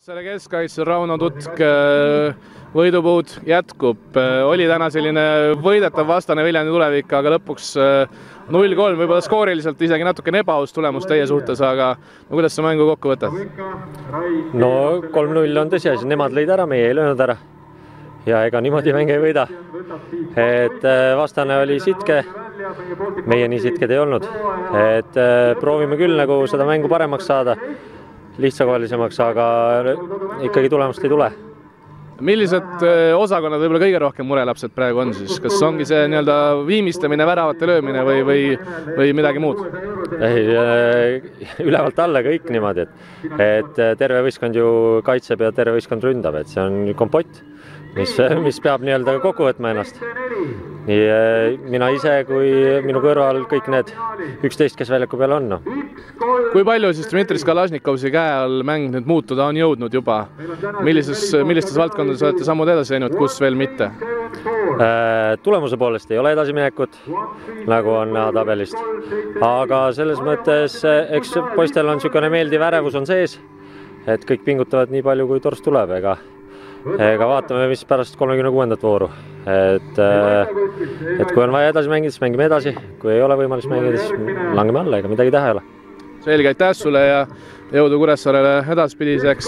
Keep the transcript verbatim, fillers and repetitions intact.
Kuressaare keskkaitsel Rauno Tutk võidupuud jätkub. Oli täna selline võidetav vastane Viljandi Tulevik, aga lõpuks null kolm, võib-olla skooriliselt isegi natukene ebaaus tulemus teie suhtes, aga no, kuidas sa mängu kokku võtad? No kolm null on tõsiasi, nemad lõid ära, meie ei löönud ära. Ja ega niimoodi mäng ei võida. Et vastane oli sitke, meie nii sitked ei olnud. Et proovime küll nagu seda mängu paremaks saada, lihtsakohalisemaks, aga ikkagi tulemust ei tule. Millised osakonnad võib-olla kõige rohkem murelapsed praegu on siis? Kas ongi see nii-öelda viimistamine, väravate löömine või, või, või midagi muud? Ei, ülevalt alla kõik niimoodi, et, et terve võistkond ju kaitseb ja terve võistkond ründab, et see on kompott, mis, mis peab nii-öelda kokku võtma ennast. Nii mina ise kui minu kõrval kõik need üksteist, kes väljaku peal on. No. Kui palju siis Dmitri Skalažnikovsi käe all mäng nüüd muutuda on jõudnud juba? Millises, millistes valdkondades olete sammud edasi teinud, kus veel mitte? Tulemuse poolest ei ole edasiminekut, nagu on näha tabelist. Aga selles mõttes, eks poistel on niisugune meeldiv ärevus on sees, et kõik pingutavad nii palju, kui torst tuleb. Ega, ega vaatame, mis pärast kolmekümne kuuendat vooru. Et, et kui on vaja edasi mängida, siis mängime edasi. Kui ei ole võimalus mängida, siis langeme alla, ega midagi teha ei ole. Selge, aitäh sulle ja jõudu Kuressaarele edaspidiseks.